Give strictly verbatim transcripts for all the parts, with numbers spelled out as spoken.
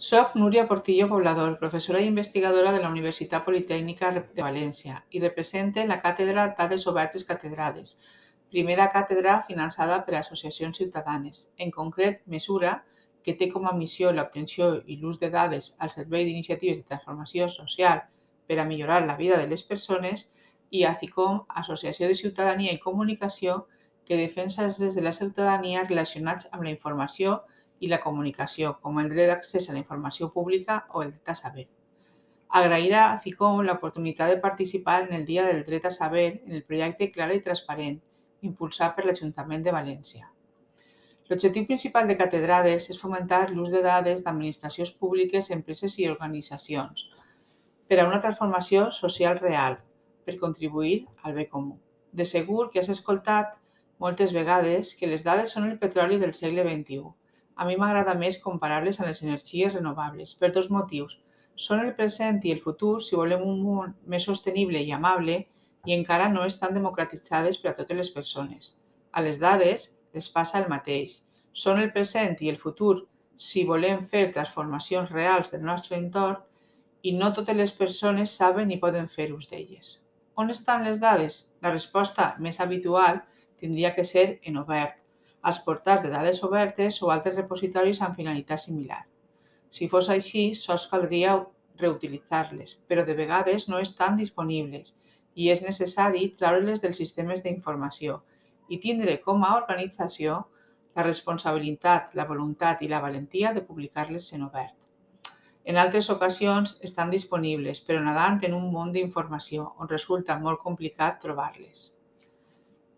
Soc Núria Portillo Poblador, professora i investigadora de la Universitat Politècnica de València i represente la càtedra Dades Obertes Catedrades, primera càtedra finançada per associacions ciutadanes, en concret Mesura, que té com a missió l'obtenció i l'ús de dades al servei d'iniciatives de transformació social per a millorar la vida de les persones, i ACICOM, Associació de Ciutadania i Comunicació, que defensa els drets de la ciutadania relacionats amb la informació i la comunicació, com el dret d'accés a la informació pública o el dret a saber. Agrair a ACICOM l'oportunitat de participar en el Dia del Dret a Saber en el projecte Clara i Transparent, impulsat per l'Ajuntament de València. L'objectiu principal de Catedrades és fomentar l'ús de dades d'administracions públiques, empreses i organitzacions per a una transformació social real, per contribuir al bé comú. De segur que has escoltat moltes vegades que les dades són el petroli del segle vint-i-u. A mi m'agrada més comparar-les amb les energies renovables, per dos motius. Són el present i el futur si volem un món més sostenible i amable i encara no estan democratitzades per a totes les persones. A les dades les passa el mateix. Són el present i el futur si volem fer transformacions reals del nostre entorn i no totes les persones saben ni poden fer ús d'elles. On estan les dades? La resposta més habitual tindria que ser en obert, als portals de dades obertes o altres repositoris amb finalitat similar. Si fos així, sols caldria reutilitzar-les, però de vegades no estan disponibles i és necessari treure-les dels sistemes d'informació i tindre com a organització la responsabilitat, la voluntat i la valentia de publicar-les en obert. En altres ocasions estan disponibles, però nedant en un món d'informació on resulta molt complicat trobar-les.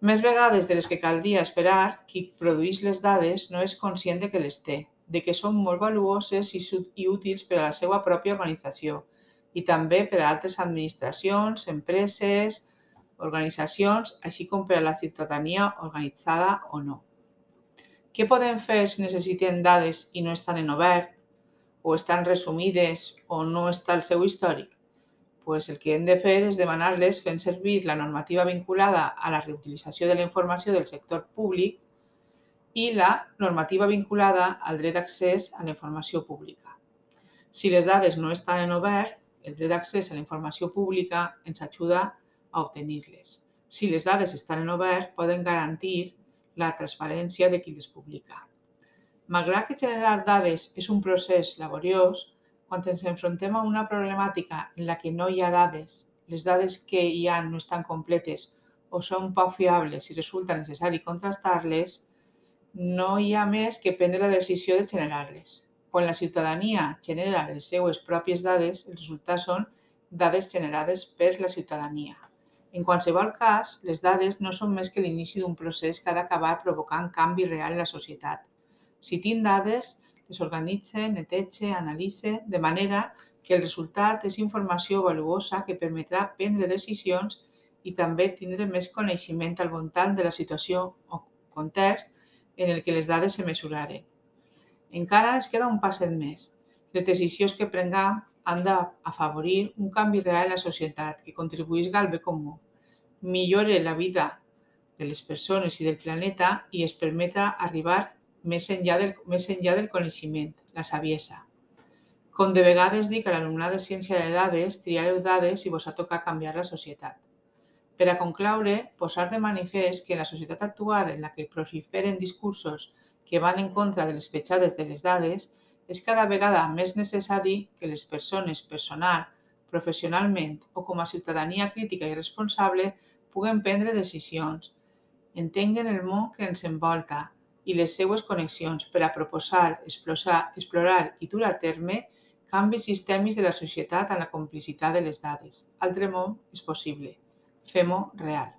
Més vegades de les que caldria esperar, qui produeix les dades no és conscient de que les té, de que són molt valuoses i útils per a la seva pròpia organització i també per a altres administracions, empreses, organitzacions, així com per a la ciutadania organitzada o no. Què podem fer si necessitem dades i no estan en obert, o estan resumides o no està el seu històric? Pues el que hem de fer és demanar-les fent servir la normativa vinculada a la reutilització de la informació del sector públic i la normativa vinculada al dret d'accés a la informació pública. Si les dades no estan en obert, el dret d'accés a la informació pública ens ajuda a obtenir-les. Si les dades estan en obert, poden garantir la transparència de qui les publica. Malgrat que generar dades és un procés laboriós, quan ens enfrontem a una problemàtica en la que no hi ha dades, les dades que hi ha no estan completes o són poc fiables i resulta necessari contrastar-les, no hi ha més que prendre la decisió de generar-les. Quan la ciutadania genera les seues pròpies dades, els resultats són dades generades per la ciutadania. En qualsevol cas, les dades no són més que l'inici d'un procés que ha d'acabar provocant canvi real en la societat. Si tinc dades, les organitze, netege, analitze, de manera que el resultat és informació valuosa que permetrà prendre decisions i també tindre més coneixement al voltant de la situació o context en el que les dades se mesuraren. Encara ens queda un passet més. Les decisions que prenguem han d'afavorir un canvi real en la societat que contribuïsca al bé comú, millore la vida de les persones i del planeta i es permeta arribar més enllà del, més enllà del coneixement, la saviesa. Com de vegades dic a l'alumnat de ciència de dades, triareu dades i vos ha tocat canviar la societat. Per a concloure, posar de manifest que en la societat actual en la que proliferen discursos que van en contra de les petjades de les dades, és cada vegada més necessari que les persones personal, professionalment o com a ciutadania crítica i responsable puguen prendre decisions, entenguen el món que ens envolta i les seues connexions per a proposar, explorar, explorar i dur a terme canvis sistèmics de la societat amb la complicitat de les dades. Altre món és possible. Fem-ho real.